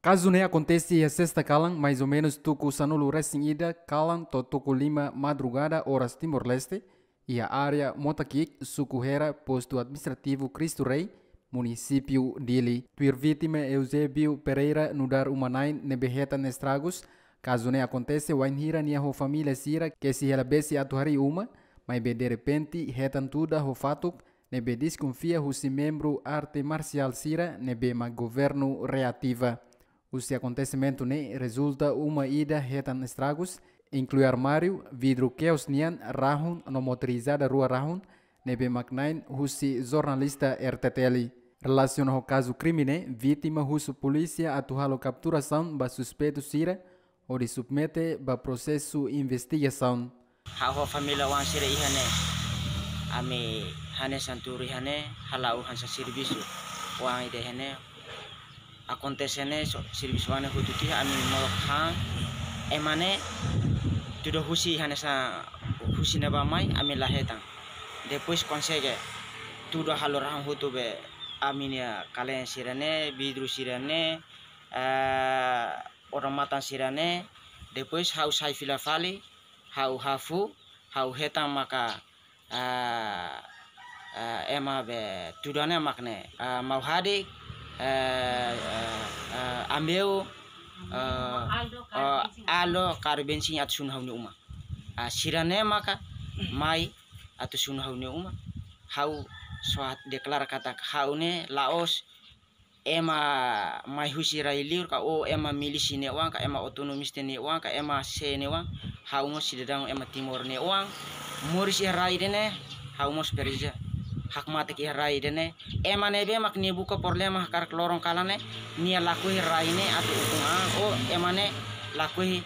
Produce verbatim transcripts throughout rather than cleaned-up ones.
Kazu ne'e akontese iha sesta kalan, mais ou menus tuku sanulu resin ida kalan to'o tuku lima madrugada oras Timor-Leste, iha área Motakik, suku Hera, postu administrativu Cristo Rei, munisípiu Dili. Tuir vítima Eusébio Pereira nu'udar uma-na'in ne'ebé hetan estragus, kazu ne'e akontese wainhira nia ho família sira kesi hela besi atu harii uma, maibé derrepente hetan tuda ho fatuk ne'ebé deskonfia husi membru arte marsiál sira ne'ebé mak governu reativa. Husi akontesimentu ne'e rezulta uma ida hetan estragus, inklui armáriu, vidru keos nian, rahun no motorizada rua rahun, ne'ebé mak na'in husi jornalista R T T L. Relasiona ho kazu krime ne'e, vítima husu polísia atu halo kapturasaun ba suspeitu sira, hodi submete ba prosesu investigasaun. Ha'u ho família oan sira iha ne'e. Ami hanesan tuur iha ne'e, hala'o hanesan servisu. Oan ida iha ne'e. Akontese ne'e, so, servisu oan ne'e hotu tiha, ami molok han. Ema ne'e tuda husi hanesan husi ne'ebá mai, ami la hetan. Depois konsege tuda halo rahun hotu be ami-nia kalen sira-ne'e, vidru sira-ne'e, eh, odamatan sira-ne'e. Depois ha'u sai fila fali, ha'u hafu, ha'u hetan maka, ah, ah, ema be tuda ne'e mak ne'e, ah, mau hadik, eh, eh, eh, ambeu, eh, Aldo, eh, Karu Bensin. Aldo, Karu Bensin atu sunu ha'u-nia uma. Ah, sira-ne'e maka mai atu sunu ha'u-nia uma. Ha'u só deklara katak ha'u ne'e la'ós ema mai husi rai liur ka, ou ema milísia nia oan ka, ema autonomista nia oan ka, ema sé nia oan, ha'u mós sidadaun ema Timor nia oan, moris iha rai ida-ne'e, ha'u mós presiza hakmatek iha rai ida-ne'e. Ema ne'ebé mak nia buka problema hakarak loron kalan ne'e, nia lakohi rai ne'e atu ukun an, ou ema ne'e lakohi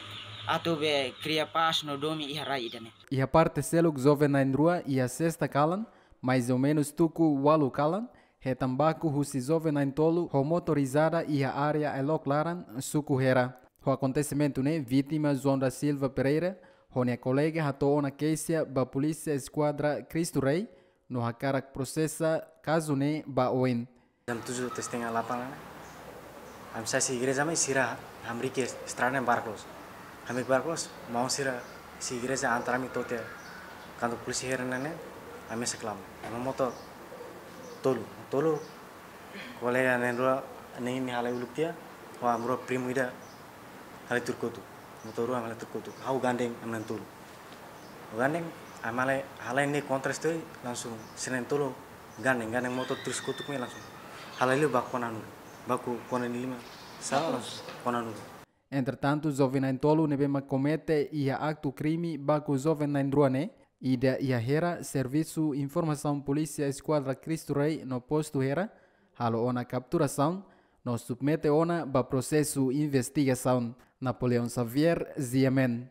atu be kria pás no domin iha rai ida-ne'e. Iha parte seluk joven na'in-rua iha sesta kalan, mais ou menus tuku ualu kalan, hetan baku husi joven na'in-tolu ho motorizada iha área Elok Laran, suku Hera. Ho akontesimentu ne'e, vítima João da Silva Pereira ho nia kolega hato'o ona keixa ba Polísia Eskuadra Cristo Rei, no hakarak prosesa kazu ne'e ba oin. Jam tujuh lewat setengah delapan ne'e, ami sai husi igreja mai, sira hamriik estrada ne'e barak loos. Hamriik barak loos, maun sira husi igreja antar ami to'o tiha kantor polísia Hera ne'e, ami mesak lama. Ema motor tolu, tolu kolega na'in-rua ne'e, nia halai uluk tiha, ho ami-rua primu ida halai tuur kotuk. Motor rua halai tuur kotuk. Ha'u gandeng ami na'in-tolu. Ha'u gandeng, ami halai, halai ne'e kontra stori, langsung sira na'in-tolu gandeng, gandeng motor tuur kotuk mai langsung. Halai liu baku kona nulu. Baku kona nia liman. Sala langsung kona nulu. Entretantu, joven na'in-tolu ne'ebé mak komete iha aktu krime baku joven na'in-rua ne'e, ida iha Hera, Servisu Informasaun Polísia Eskuadra Cristo Rei no postu Hera, halo ona kapturasaun, no submete ona ba prosesu investigasaun. Napoleão Xavier, G M N.